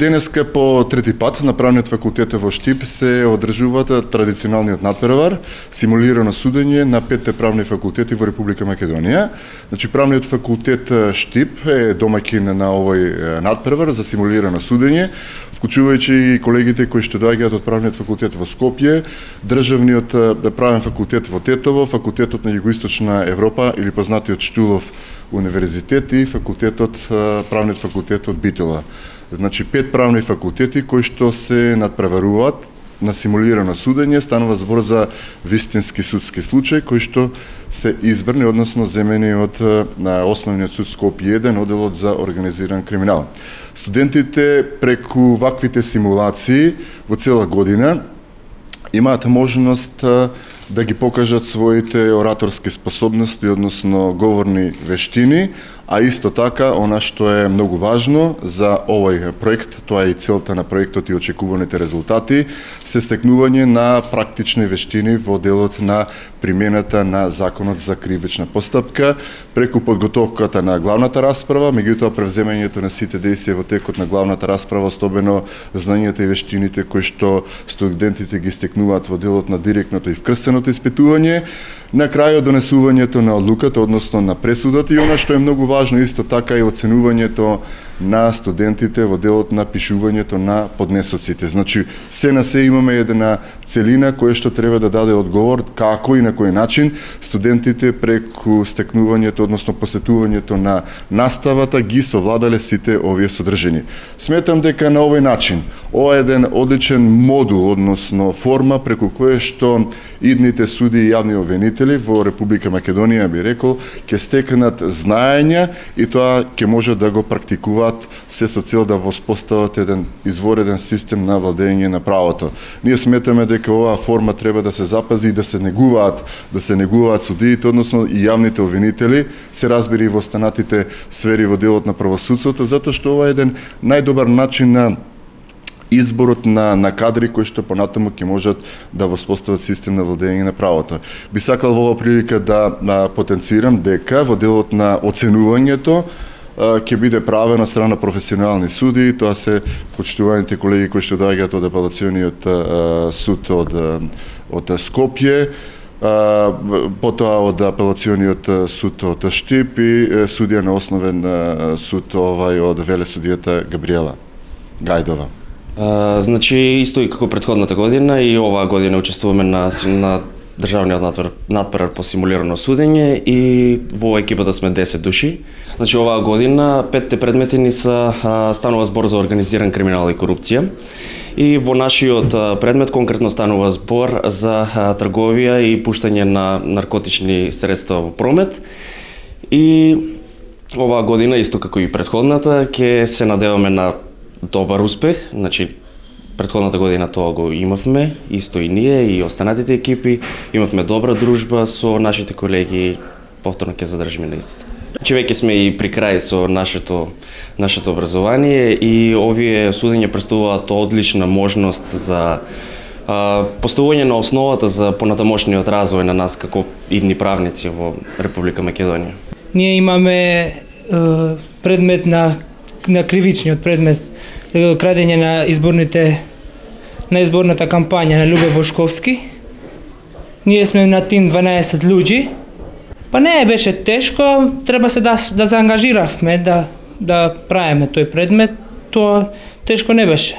Денеска по трети пат на правниот факултет во Штип се одржуваат традиционалниот надпревар, симулирано судење на 5 правни факултети во Република Македонија. Значи правниот факултет Штип е домаќин на овој надпревар за симулирано судење, вклучувајќи и колегите кои што доаѓаат од правниот факултет во Скопје, државниот правен факултет во Тетово, факултетот на Југоисточна Европа или познатиот Штулов универзитет и правниот факултет од Битола. Значи 5 правни факултети кои што се надпреваруваат на симулирано судење, станува збор за вистински судски случај кои што се избрани, односно земени од Основниот суд Скопје 1, оделот за организиран криминал. Студентите преку ваквите симулации во цела година имаат можност да ги покажат своите ораторски способности, односно говорни вештини, а исто така, она што е многу важно за овој проект, тоа е и целта на проектот и очекуваните резултати, се стекнување на практични вештини во делот на примената на Законот за кривична постапка, преку подготовката на главната расправа, меѓутоа превземањето на сите дејствија во текот на главната расправа, особено знањата и вештините кои што студентите ги стекнуваат во делот на директното и вкрстеното испитување, на крајот донесувањето на одлуката, односно на пресудата, и она што е многу важно исто така е оценувањето на студентите во делот на пишувањето на поднесоците. Значи, се на се имаме една целина која што треба да даде одговор како и на кој начин студентите преку стекнувањето, односно посетувањето на наставата ги совладале сите овие содржини. Сметам дека на овој начин, ова е еден одличен модул, односно форма преку која што идните суди и јавни обвинители во Република Македонија, би рекол, ќе стекнат знаења и тоа ќе можат да го практикуваат се со цел да воспостават еден извореден систем на владење на правото. Ние сметаме дека оваа форма треба да се запази и да се негуваат судиите, односно и јавните обвинители, се разбери во останатите сфери во делот на правосудството, затоа што ова е еден најдобар начин на изборот на кадри кои што понатаму ќе можат да воспостават систем на владење на правото. Би сакал во оваа прилика да потенцирам дека во делот на оценувањето ќе биде правено од страна професионални суди, тоа се почитуваните колеги кои што доаѓаат од апелациониот суд од Скопје, потоа од апелациониот суд од Штип и судија на Основен суд од велесудијата Габриела Гајдова. Значи, исто и како претходната година, и оваа година учествуваме на државниот надпревар по симулирано судење и во екипата сме 10 души. Значи, оваа година 5 предмети ни станува збор за организиран криминал и корупција. И во нашиот предмет конкретно станува збор за трговија и пуштање на наркотични средства во промет. И оваа година, исто како и претходната, ќе се надеваме на добар успех. Значи, претходната година тоа го имавме, исто и ние и останатите екипи, имавме добра дружба со нашите колеги, повторно ќе задржиме на истото. Значи, веќе сме и при крај со нашето образование и овие судења представуваат одлична можност за поставување на основата за понатамошниот развој на нас како идни правници во Република Македонија. Ние имаме предмет на кривичниот предмет, крадење на изборната кампања на Љубе Бошковски. Ние сме на тим 12 луѓи. Па не беше тешко, треба се да заангажиравме да правиме тој предмет, тоа тешко не беше.